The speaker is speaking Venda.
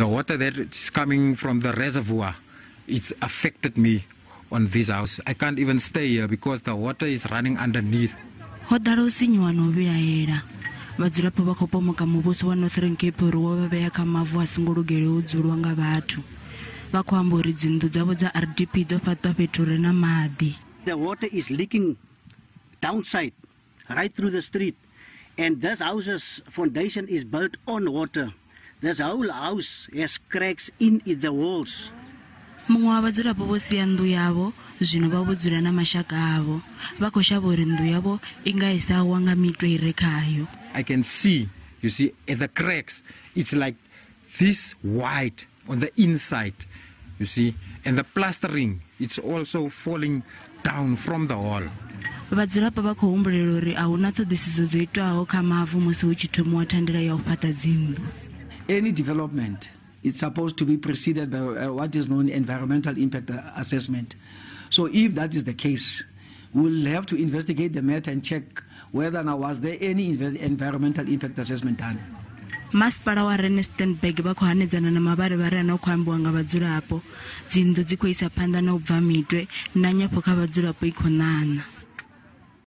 The water that is coming from the reservoir, it's affected me on this house. I can't even stay here because the water is running underneath. Ho ḓala u sinyuwa na u vhilaela. Vhadzulapo vha khou pomoka muvhuso wa Northern Cape uri wo vha vhea kha mavu a songo lugelaho u dzulwa nga vhathu. Vha khou amba uri dzinnḓu dzavho dza RDP dzo fhaṱwa fhethu hu re na maḓi. The water is leaking downside, right through the street. And this house's foundation is built on water. This whole house has cracks in the walls. Muṅwe wa vhadzulapo vho sia nnḓu yavho, zwino vha vho dzula na mashaka avho. Vha khou shavha uri nnḓu yavho i nga i sa wa nga mitwe i re khayo. I can see, you see, at the cracks, it's like this wide on the inside, you see, and the plastering, it's also falling down from the wall. Vhadzulapo vha khou humbulela uri a huna ṱhoḓisiso dzo itwaho kha mavu musi hu tshi thomiwa thandela ya u fhaṱa dzinnḓu. Any development, it's supposed to be preceded by what is known environmental impact assessment. So if that is the case, we'll have to investigate the matter and check whether now was there any environmental impact assessment done. Masipala wa Rustenburg vha khou hanedzana na mavharivhari ane a khou ambiwa nga vhadzulapo. Dzinnḓu dzi khou isa phanḓa na u bva mitwe na nyofho kha vhadzulapo i khou ṋaṋa.